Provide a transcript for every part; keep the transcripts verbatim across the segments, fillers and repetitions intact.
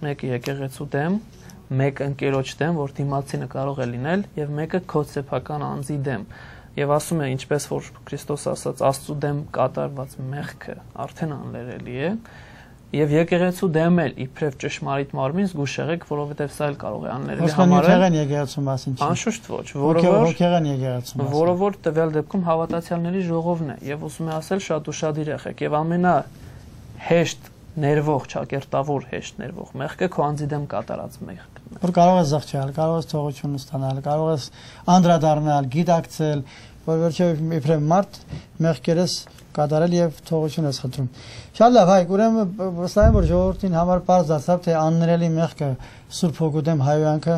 մեկը եկեղեցու դեմ, մեկը ընկերոջ դեմ, որ դիմացինը կարող է լինել, եւ մեկը քո սեփական անձի դեմ։ Եվ ասում է, ինչպես որ Քրիստոս ասաց, Աստծու դեմ կատարված մեղքը արդեն աններելի է, եւ եկեղեցու դեմ էլ իբրև ճշմարիտ մարմին զգուշ եղեք, որովհետեւ սա էլ կարող է աններելի համարել։ Եկեղեցու մասին չի։ Անշուշտ ոչ, որովհետեւ եկեղեցու մասին։ Որը որ տվյալ դեպքում հավատացյալների ժողովն է, եւ ուզում է ասել շատ ուշադիր եղեք, եւ ամենա հեշտ ներվող, ճակերտավոր հեշտ ներվող մեղքը քո անձի դեմ կատարած մեղքն է։ Որ կարող ես զղջալ, կարող ես թողություն ստանալ, կարող ես անդրադառնալ, գիտակցել, որ վերջերս իբրև մարդ մեղքերս կատարել եւ թողություն ես խնդրում։ Շատ լավ, հայ, ուրեմն վստահ եմ, որ ժողովրդին համար պարզ դարձավ, թե աններելի մեղքը Սուրբ Հոգու դեմ հայոյանքը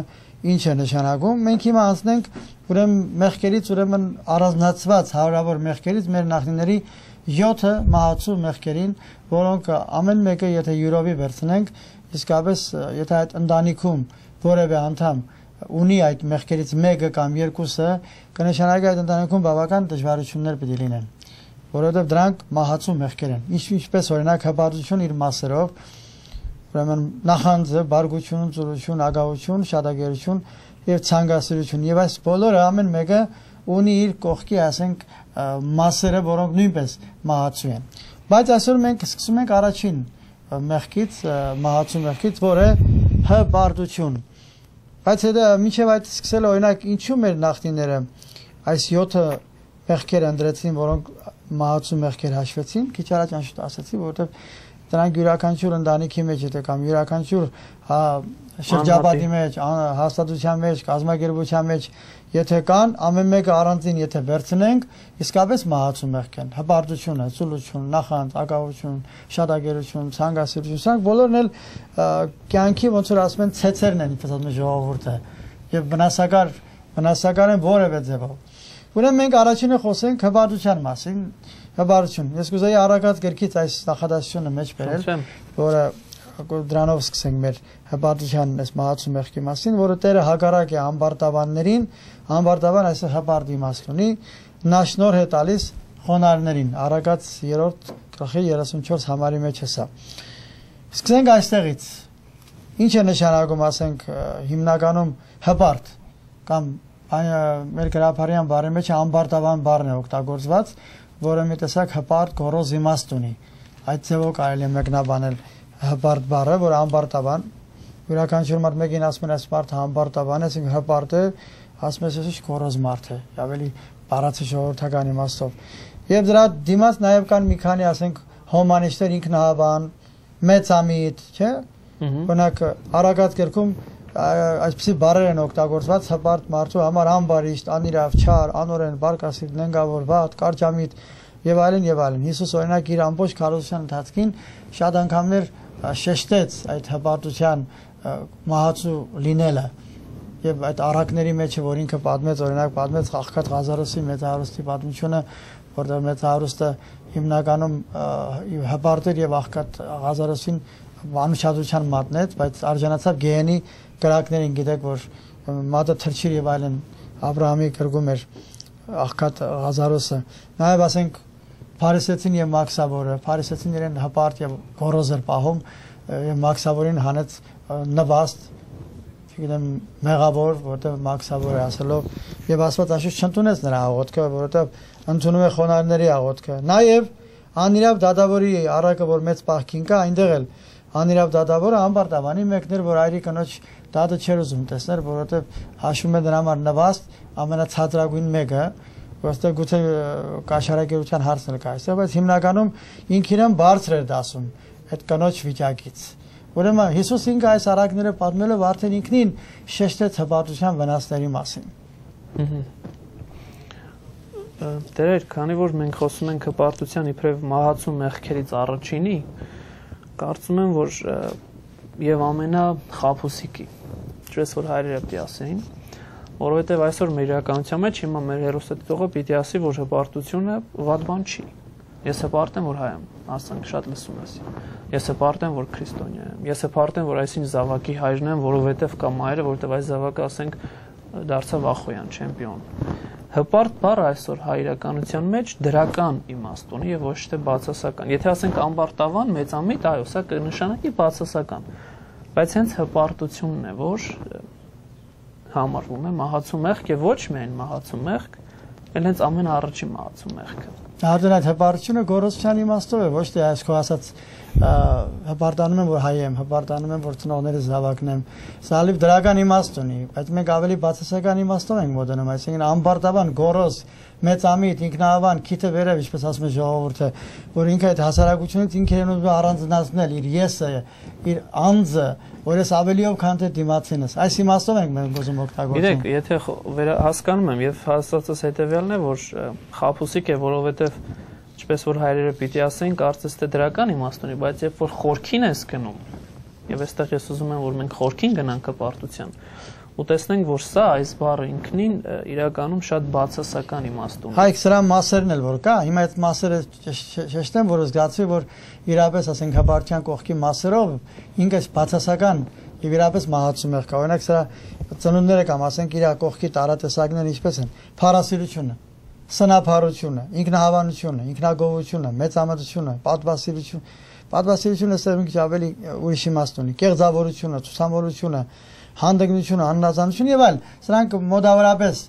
ինչ է նշանակում։ Մենք հիմա անցնենք ուրեմն մեղքերից, ուրեմն առանձնացված հարյուրավոր մեղքերից մեր նախնիների յոթ մահացու մեղքերին, որոնք ամեն մեկը եթե յուրովի վերցնենք, իսկապես եթե այդ ընտանիքում որևէ անդամ ունի այդ մեղքերից մեկը կամ երկուսը, կնշանակի այդ ընտանիքում բավական դժվարություններ պիտի լինեն, որովհետև դրանք մահացու մեղքեր են։ Ինչպես օրինակ հպատություն իր մասերով, ուրեմն նախանձը, բարգություն, ծուրություն, ագահություն, շատագերություն եւ ցանկասիրություն, եւ այս բոլորը ամեն մեկը ունի իր կողքի, ասենք, մասերը, որոնք նույնպես մահացու են։ Բայց այսօր մենք սկսում ենք առաջին մեղքից, մահացու մեղքից, որը հպարտություն։ Բայց հետո մինչև այդ սկսել օրինակ ինչու մեր նախնիները այս յոթ մեղքեր ընդրեցին, որոնք մահացու մեղքեր հաշվեցին, քիչ առաջ անշուշտ ասացի, որովհետև դրանք յուրաքանչյուր ընտանիքի մեջ է կամ յուրաքանչյուր շրջապատի մեջ, հաստատության մեջ, կազմակերպության մեջ, եթե կան, ամեն մեկը առանձին եթե վերցնենք, իսկապես մահացու մեղք են։ Հպարտությունը, ծուլություն, նախանձ, ագահություն, շատագերություն, ցանկասիրություն, սրանք բոլորն էլ կյանքի ոնց որ ասում են ցեցերն են, ինչպես ասում են ժողովուրդը, եւ վնասակար վնասակար են որևէ ձևով։ Ուրեմն մենք առաջինը խոսենք հպարտության մասին, հպարտություն։ Ես կուզեի առակած գրքից այս նախադասությունը մեջ բերել, որը դրանով սկսենք մեր հպարտության այս մահացու մեղքի մասին, որը Տերը հակառակ է ամբարտավաններին, ամբարտավան այսը հպարտ իմաստ ունի, նա շնորհ է տալիս խոնարհներին, առակած երրորդ գլխի երեսունչորս համարի մեջ է սա։ Սկսենք այստեղից։ Ինչ է նշանակում, ասենք, հիմնականում հպարտ կամ մեր գրաբարյան բառի մեջ ամբարտավան բառն է օգտագործված, որը մի տեսակ հպարտ գոռոզ իմաստ ունի։ Այդ ձևով կարելի է մեկնաբանել հպարտ բառը, որ ամբարտավան, յուրաքանչյուր մարդ մեկին ասում են այս մարդը ամբարտավան է, այսինքն հպարտ է, ասում ես ես գոռոզ մարդ է, ավելի բառացի ժողովրդական իմաստով։ Եվ դրա դիմաց նաև կան մի քանի, ասենք, հոմանիշներ, ինքնահավան, մեծամիտ, չէ՞։ Օրինակ առակած գրքում այսպիսի բառեր են օգտագործված հպարտ մարդու համար ամբարիշտ, անիրավ, չար, անօրեն, բարկասիրտ, նենգավոր, վատ, կարճամիտ եւ այլն եւ այլն։ Հիսուս օրինակ իր ամբողջ քարոզության ընթացքին շատ անգամներ շեշտեց այդ հպարտության մահացու լինելը եւ այդ առակների մեջ որ ինքը պատմեց, օրինակ պատմեց Աղքատ Ղազարոսի մեծահարուստի պատմությունը, որտեղ մեծահարուստը հիմնականում հպարտ էր եւ Աղքատ Ղազարոսին անուշադրության մատնեց, բայց արժանացավ գեհենի կրակներին, գիտեք, որ մատը թրջիր եւ այլն Աբրահամի կրգում էր Աղքատ Ղազարոսը։ Նաեւ ասենք Փարիսեցին եւ Մաքսավորը, Փարիսեցին իրեն հպարտ եւ գոռոզ էր պահում եւ Մաքսավորին հանեց նվաստ, չգիտեմ, մեղավոր, որտեղ Մաքսավորը ասելով եւ Աստված աշուտ չընդունեց նրա աղոթքը, որովհետեւ ընդունում է խոնարհների աղոթքը։ Նաեւ անիրավ դատավորի առակը, որ մեծ պահքին կա, այնտեղ էլ անիրավ դատավորը ամբարտավանի մեկն էր, որ այրի կնոջ դատը չէր ուզում տեսնել, որովհետեւ հաշվում է դրա համար նվաստ ամենացածրագույն մեկը, որտեղ գուցե կաշարակերության հարցն էլ կա այստեղ, բայց հիմնականում ինքն իրեն բարձր էր դասում այդ կնոջ վիճակից։ Ուրեմն Հիսուս ինքը այս առակները պատմելով արդեն ինքնին շեշտեց հպարտության վնասների մասին։ Տեր, քանի որ մենք խոսում ենք հպարտության իբրև մահացու մեղքերից առաջինի, կարծում եմ, որ եւ ամենախաբուսիկի, ինչպես որ հայրերը պիտի ասեին, որովհետեւ այսօր մեր իրականության մեջ հիմա մեր հերոսատիտողը պիտի ասի, որ հպարտությունը վատ բան չի։ Ես հպարտ եմ, որ հայ եմ, ասենք շատ լսում ես։ Ես հպարտ եմ, որ քրիստոնյա եմ։ Ես հպարտ եմ, որ այսինչ զավակի հայրն եմ, որովհետեւ կամ մայրը, որովհետեւ այս զավակը, ասենք, դարձավ ախոյան, չեմպիոն։ Հպարտ բառը այսօր հայրականության մեջ դրական իմաստ ունի եւ ոչ թե բացասական։ Եթե ասենք ամբարտավան, մեծամիտ, այո, սա կնշանակի բացասական։ բայց հենց հպարտությունն է, որ համարվում է մահացու մեղք եւ ոչ միայն մահացու մեղք, այլ հենց ամենաառաջի մահացու մեղքը։ Արդեն այդ հպարտությունը գոռոցության իմաստով է, ոչ թե այս քո ասած հպարտանում եմ, որ հայ եմ, հպարտանում եմ, որ ծնողներս զավակն եմ։ Սա լիվ դրական իմաստ ունի, բայց մենք ավելի բացասական իմաստով ենք մոտենում, այսինքն ամբարտավան, գոռոզ, մեծամիտ, ինքնահավան, քիթը վերև, ինչպես ասում է ժողովուրդը, որ ինքը այդ հասարակությունից ինքը ուզում է առանձնացնել իր եսը, իր անձը, որ ես ավելիով քան թե դիմացինս։ Այս իմաստով ենք մենք ուզում օգտագործում։ Գիտեք, եթե հասկանում եմ եւ հասածս հետեւյալն է, որ խաբուսիկ է, որովհետեւ ինչպես որ հայրերը պիտի ասեն, կարծես թե դրական իմաստ ունի, բայց երբ որ խորքին ես գնում, եւ այստեղ ես ուզում եմ, որ մենք խորքին գնանք հպարտության, ու տեսնենք, որ սա այս բառը ինքնին իրականում շատ բացասական իմաստ ունի։ Հայք սրա մասերն էլ որ կա, հիմա այդ մասերը շեշտեմ, որ զգացվի, որ իրապես ասենք հպարտության կողքի մասերով ինքը բացասական եւ իրապես մահացու մեղք կա։ Օրինակ սրա ծնունդները կամ ասենք իր կողքի տարատեսակները ինչպես են՝ փառասիրությունը, սնափառությունը, ինքնահավանությունը, ինքնագովությունը, մեծամտությունը, պատվասիրությունը, պատվասիրությունը սա մի քիչ ավելի ուրիշ իմաստ ունի, կեղծավորությունը, ցուսամոլությունը, հանդգնությունը, աննազանությունը եւ այլն։ Սրանք մոտավորապես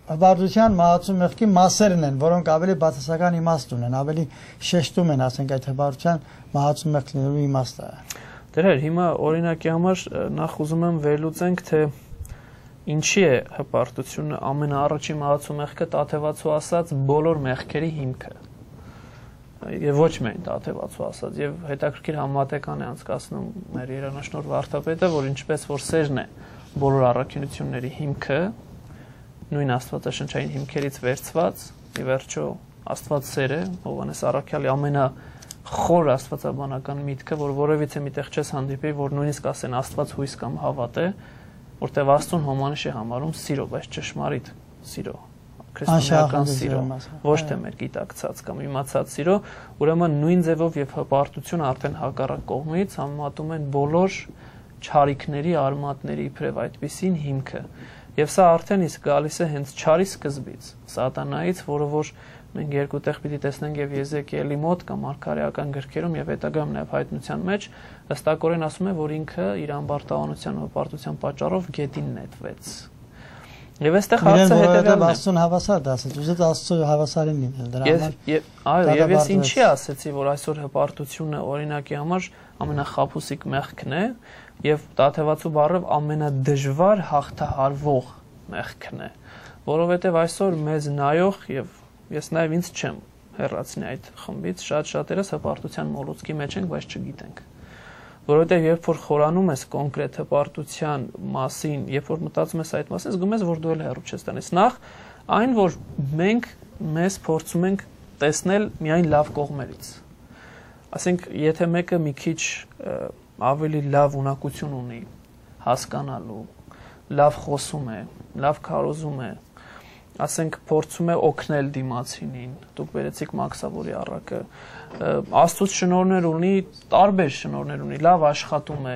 հպարտության մահացու մեղքի մասերն են, որոնք ավելի բացասական իմաստ ունեն, ավելի շեշտում են, ասենք այդ հպարտության մահացու մեղք լինելու իմաստը։ Դեր հիմա օրինակի համար նախ ուզում եմ վերլուծենք, թե ինչի է հպարտությունը ամենաառաջի մահացու մեղքը Տաթևացու ասած բոլոր մեղքերի հիմքը։ Եվ ոչ միայն Տաթևացու ասած, եւ հետաքրքիր համատեկան է անցկացնում մեր երանաշնոր վարդապետը, որ ինչպես որ սերն է բոլոր առաքինությունների հիմքը, նույն աստվածաշնչային հիմքերից վերցված, ի վերջո Աստված սեր է, Հովհաննես առաքյալի ամենախոր աստվածաբանական միտքը, որ որևիցե միտեղ չես հանդիպի, որ նույնիսկ ասեն Աստված հույս կամ հավատ է, որտեղ Աստծուն հոմանիշ է համարում սիրո, բայց ճշմարիտ սիրո, քրիստոնեական սիրո, ոչ թե մեր գիտակցած կամ իմացած սիրո, ուրեմն նույն ձևով եւ հպարտությունը արդեն հակառակ կողմից համատում են բոլոր չարիքների, արմատների իբրև այդպիսին հիմքը։ Եվ սա արդեն իսկ գալիս է հենց չարի սկզբից, սատանայից, որը որ մենք երկու տեղ պիտի տեսնենք եւ Եզեկիելի մոտ կամ Մարգարեական գրքերում եւ հետագայում նաեւ հայտնության մեջ ըստակորեն ասում է, որ ինքը իր ամբարտավանության ու հպարտության պատճառով գետին նետվեց։ Եվ այստեղ հարցը հետեւյալն է. Աստծուն հավասար դասեց, ուզեց Աստծո հավասարին լինել դրա համար։ Այո, եւ ես ինչի ասեցի, որ այսօր հպարտությունը օրինակի համար ամենախաբուսիկ մեղքն է եւ Տաթևացու բառը ամենադժվար հաղթահարվող մեղքն է, որովհետեւ այսօր մեզ նայող եւ ես նաեւ ինձ չեմ հեռացնի այդ խմբից, շատ շատերս հպարտության մոլուցքի մեջ ենք, բայց չգիտենք։ Որովհետև երբ որ խորանում ես կոնկրետ հպարտության մասին, երբ որ մտածում ես այդ մասին, զգում ես, որ դու էլ հեռու չես տանես։ Նախ այն, որ մենք մեզ փորձում ենք տեսնել միայն լավ կողմերից։ Ասենք, եթե մեկը մի քիչ ավելի լավ ունակություն ունի, հասկանալու, լավ խոսում է, լավ քարոզում է, ասենք փորձում է օգնել դիմացինին, դուք վերեցիք Մաքսավորի առակը, Աստծուց շնորհներ ունի, տարբեր շնորհներ ունի, լավ աշխատում է,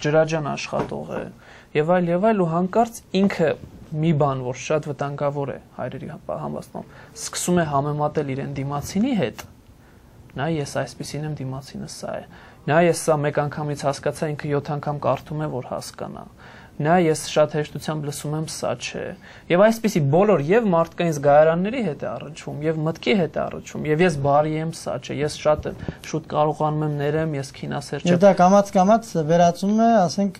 ջրաջան աշխատող է, եւ այլ եւ այլ ու հանկարծ ինքը մի բան, որ շատ վտանգավոր է հայրերի համաստանում, սկսում է համեմատել իրեն դիմացինի հետ, նա ես այսպեսին եմ, դիմացինը սա է, նա ես սա մեկ անգամից հասկացա, ինքը յոթ անգամ կարդում է, որ հասկանա, նա ես շատ հեշտությամբ լսում եմ, սա չէ, եւ այսպիսի բոլոր եւ մարդկային զգայարանների հետ է առնչվում, եւ մտքի հետ է առնչվում, եւ ես բարի եմ, սա չէ, ես շատ շուտ կարողանում եմ ներեմ, ես քինասեր չեմ։ Եվ դա կամաց-կամաց վերածում է, ասենք,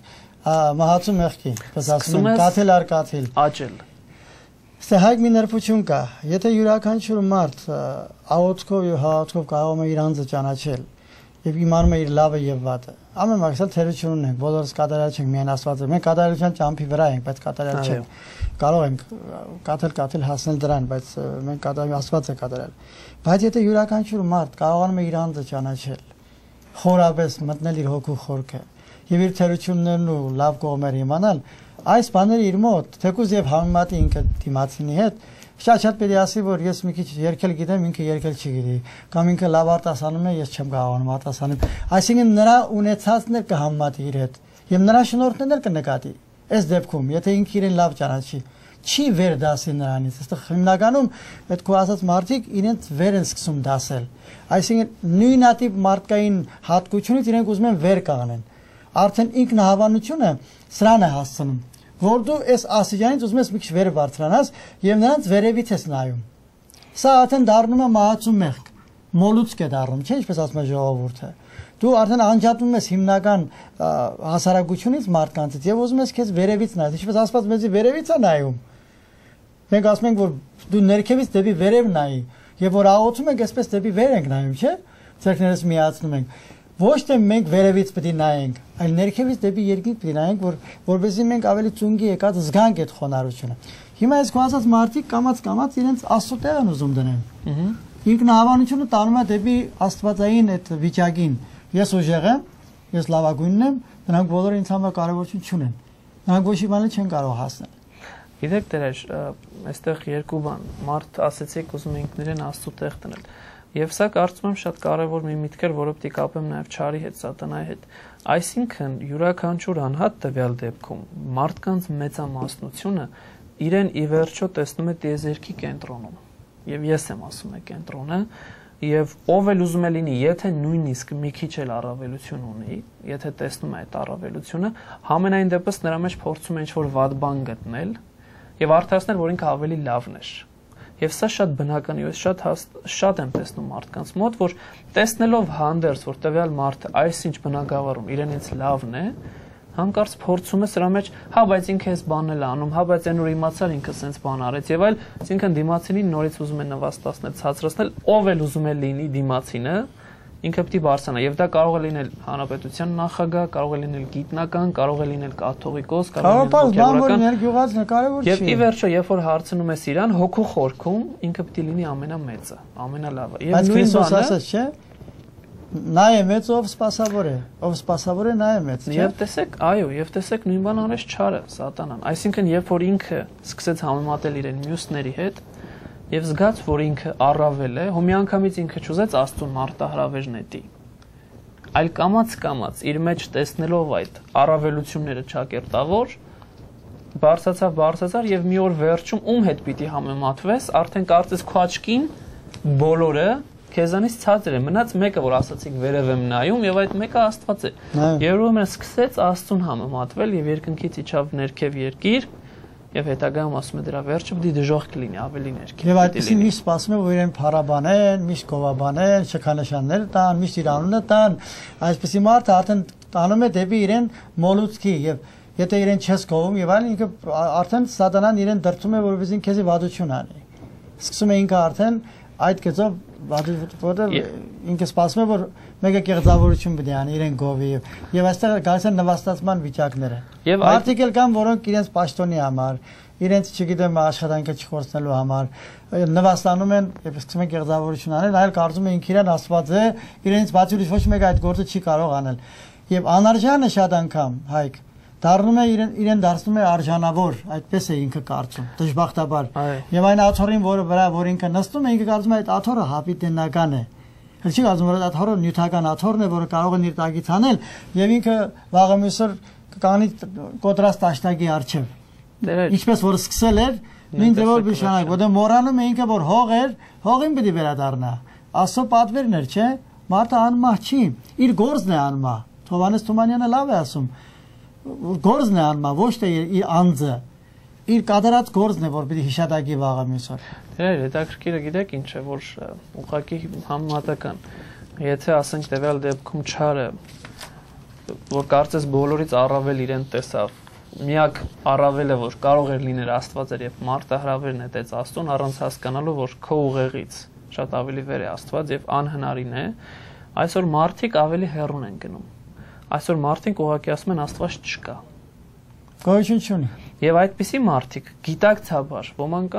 մահացու մեղքի, պես ասում են, կաթիլ առ կաթիլ։ Աճել։ Ստե հայք մի նրբություն կա, եթե յուրաքանչյուր մարդ աղոթքով եւ հաղորդքով կարող է իր անձը ճանաչել եւ իմանում է իր լավը եւ վատը։ Ամեն մաքսել թերություն ունենք, բոլորս կատարյալ չենք, միայն Աստվածը։ Մենք կատարյալության ճամփի վրա ենք, բայց կատարյալ չենք։ Կարող ենք կաթել-կաթել հասնել դրան, բայց մենք կատարյալ Աստված է կատարյալ։ Բայց եթե յուրաքանչյուր մարդ կարողանում է իր անձը ճանաչել, խորապես մտնել իր հոգու խորքը եւ իր թերություններն ու լավ կողմերը իմանալ, այս բաները իր մոտ, թեկուզ եւ համեմատի ինքը դիմացինի հետ, շատ-շատ պետք է ասի, որ ես մի քիչ երգել գիտեմ, ինքը երգել չգիտի, կամ ինքը լավ արտասանում է, ես չեմ կարողանում արտասանել։ Այսինքն նրա ունեցածն էլ կհամեմատի իր հետ եւ նրա շնորհքներն էլ կնկատի։ Այս դեպքում, եթե ինքը իրեն լավ ճանաչի, չի վեր դասի նրանից։ Այստեղ հիմնականում այդ քո ասած մարդիկ իրենց վեր են սկսում դասել։ Այսինքն նույնատիպ մարդկային հատկությունից իրենք ուզում են վեր կանգնեն։ արդեն ինքնահավանությունը սրան է հասցնում, որ դու այս ասիջանից ուզում ես մի քիչ վեր բարձրանաս եւ նրանց վերևից ես նայում։ Սա արդեն դառնում է մահացու մեղք, մոլուցք է դառնում, չէ՞ ինչպես ասում է ժողովուրդը։ Դու արդեն անջատվում ես հիմնական հասարակությունից մարդկանցից եւ ուզում ես քեզ վերևից նայես, ինչպես ասված մեզի վերևից է նայում։ Մենք ասում ենք, որ դու ներքևից դեպի վերև նայի, եւ որ աղոթում ենք, այսպես դեպի վեր ենք նայում, չէ՞։ Ձեռքներս միացնում ենք։ Ոչ թե մենք վերևից պետք է նայենք, այլ ներքևից դեպի երկինք պետք է նայենք, որ որովհետեւ մենք ավելի ծունգի եկած զգանք այդ խոնարհությունը։ Հիմա այս կոասած մարդիկ կամած-կամած իրենց աստծո տեղ են ուզում դնել։ Ինքնահավանությունը տանում է դեպի աստվածային այդ վիճակին։ Ես ուժեղ եմ, ես լավագույնն եմ, նրանք բոլորը ինձ համար կարևորություն չունեն։ Նրանք ոչ մի բան չեն կարող հասնել։ Գիտեք դեր, այստեղ երկու բան, մարդ ասեցիք ուզում ենք իրեն աստծո տեղ դնել։ Եվ սա կարծում եմ շատ կարևոր մի միտք էր, որը պետք է կապեմ նաև չարի հետ, սատանայի հետ։ Այսինքն յուրաքանչյուր անհատ տվյալ դեպքում մարդկանց մեծամասնությունը իրեն ի վերջո տեսնում է տիեզերքի կենտրոնում։ Եվ ես եմ ասում եմ կենտրոնը, եւ ով էլ ուզում է լինի, եթե նույնիսկ մի քիչ էլ առավելություն ունի, եթե տեսնում է այդ առավելությունը, համենայն դեպս նրա մեջ փորձում է ինչ-որ վատ բան գտնել եւ արդարացնել, որ ինքը ավելի լավն է։ Եվ սա շատ բնական է, ես շատ շատ եմ տեսնում մարդկանց մոտ, որ տեսնելով հանդերձ, որ տվյալ մարդը այսինչ բնակավարում իրենից լավն է, հանկարծ փորձում է սրա մեջ, հա, բայց ինքը էս բանն էլ անում, հա, բայց այն որ իմացար ինքը սենց բան արեց եւ այլ, այսինքն դիմացինին նորից ուզում է նվաստացնել, ցածրացնել, ով էլ ուզում է լինի դիմացինը, ինքը պետք է բարձրանա եւ դա կարող է լինել հանրապետության նախագահ, կարող է լինել գիտնական, կարող է լինել կաթողիկոս, կարող է լինել գյուղացի, եւ ի վերջո, երբ որ հարցնում ես իրան, հոգու խորքում ինքը պետք է լինի ամենամեծը, ամենալավը։ Եվ նույն բանը, ասած չէ, նա է մեծ, ով սպասավոր է, ով սպասավոր է, նա է մեծ, չէ՞։ Եվ տեսեք, այո, եւ տեսեք նույն բան արեց չարը, սատանան։ Այսինքն, երբ որ ինքը սկսեց համեմատել իրեն մյուսների հետ, եւ զգաց, որ ինքը առավել է, ու միանգամից ինքը չուզեց Աստծուն մարտահրավեր նետի։ Այլ կամաց-կամաց իր մեջ տեսնելով այդ առավելությունները ճակերտավոր, բարձացավ, բարձացավ եւ մի օր վերջում ում հետ պիտի համեմատվես, արդեն կարծես քո աչքին բոլորը քեզանից ցածր է, մնաց մեկը, որ ասացիք վերև եմ նայում եւ այդ մեկը Աստված է։ Եվ ուրեմն սկսեց Աստծուն համեմատվել եւ երկնքից իջավ ներքև երկիր եւ հետագայում ասում է դրա վերջը պիտի դժոխք լինի, ավելի ներքև։ Եվ այդպեսին միշտ սպասում է, որ իրեն փառաբանեն, միշտ գովաբանեն, շքանշաններ տան, միշտ իր անունը տան, այսպեսի մարդը արդեն տանում է դեպի իրեն մոլուցքի եւ եթե իրեն չես գովում եւ այլն, ինքը արդեն սատանան իրեն դրդում է, որովհետեւ քեզի վադություն անի։ Սկսում է ինքը արդեն այդ գծով որտեղ ինքը սպասում է, որ մեկը կեղծավորություն պետք է անի իրեն գովի եւ այստեղ գալիս են նվաստացման վիճակները։ Մարդիկ էլ կան, որոնք իրենց պաշտոնի համար, իրենց, չգիտեմ, աշխատանքը չխորցնելու համար նվաստանում են եւ սկսում են կեղծավորություն անել, այլ կարծում են ինքը իրեն Աստված է, իրենից բացի ուրիշ ոչ մեկը այդ գործը չի կարող անել։ Եվ անարժանը շատ անգամ, Հայկ, դառնում է իրեն իրեն դարձնում է արժանավոր, այդպես է ինքը կարծում, դժբախտաբար։ Եվ այն աթոռին, որը վրա որ ինքը նստում է, ինքը կարծում է այդ աթոռը հապիտենական է։ Հəl չի կարծում, որ այդ աթոռը նյութական աթոռն է, որը կարող է իր տակից անել, եւ ինքը վաղը մյուսօր կանի կոտրած տաշտակի առջև։ Ինչպես որ սկսել էր, նույն ձևով բիշանակ, որտեղ մոռանում է ինքը, որ հող էր, հողին պիտի վերադառնա։ Աստծո պատվերն էր, չէ՞։ Մարդը անմահ չի, իր գործն է անմահ։ Թովանես Թումանյանը լավ է ասում։ Գործն է անմահ, ոչ թե իր անձը, իր կատարած գործն է, որ պիտի հիշատակի վաղը մյուսօր։ Դեր հետաքրքիրը գիտեք ինչ է, որ ուղղակի համեմատական։ Եթե ասենք տվյալ դեպքում չարը, որ կարծես բոլորից առավել իրեն տեսավ, միակ առավելը, որ կարող էր լինել Աստված էր եւ մարտահրավեր նետեց Աստծուն առանց հասկանալու, որ քո ուղեղից շատ ավելի վեր է Աստված եւ անհնարին է, այսօր մարդիկ ավելի հեռուն են գնում։ Այսօր մարդիկ ուղղակի ասում են Աստված չկա։ Գոյություն չունի։ Եվ այդպիսի մարդիկ գիտակցաբար ոմանք